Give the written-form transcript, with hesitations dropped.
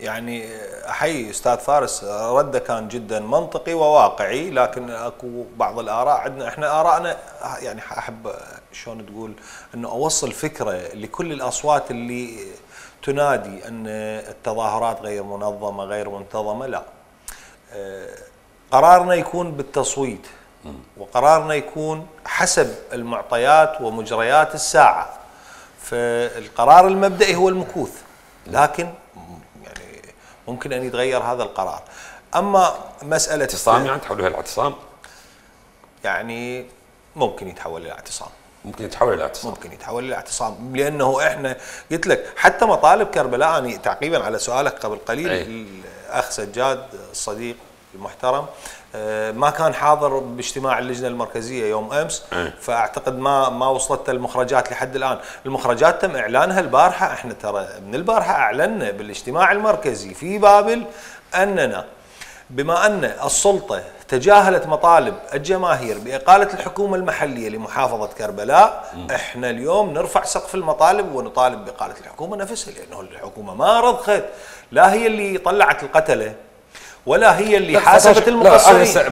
يعني احيي استاذ فارس، رده كان جدا منطقي وواقعي، لكن اكو بعض الاراء عندنا احنا ارائنا، يعني احب شلون تقول انه اوصل فكره لكل الاصوات اللي تنادي ان التظاهرات غير منظمه غير منتظمه. لا، قرارنا يكون بالتصويت، وقرارنا يكون حسب المعطيات ومجريات الساعه، فالقرار المبدئي هو المكوث، لكن يعني ممكن ان يتغير هذا القرار. اما مساله اعتصام يعني تحولها الاعتصام، يعني ممكن يتحول الى اعتصام، ممكن يتحول الى اعتصام، ممكن يتحول الى اعتصام، لانه احنا قلت لك حتى مطالب كربلاء. أنا تعقيبا على سؤالك قبل قليل، الاخ سجاد الصديق المحترم ما كان حاضر باجتماع اللجنه المركزيه يوم امس، فاعتقد ما وصلت المخرجات لحد الان. المخرجات تم اعلانها البارحه، احنا ترى من البارحه اعلنا بالاجتماع المركزي في بابل اننا بما ان السلطه تجاهلت مطالب الجماهير باقاله الحكومه المحليه لمحافظه كربلاء، احنا اليوم نرفع سقف المطالب ونطالب باقاله الحكومه نفسها، لانه الحكومه ما رضخت، لا هي اللي طلعت القتله ولا هي اللي حاسبت المقصرين.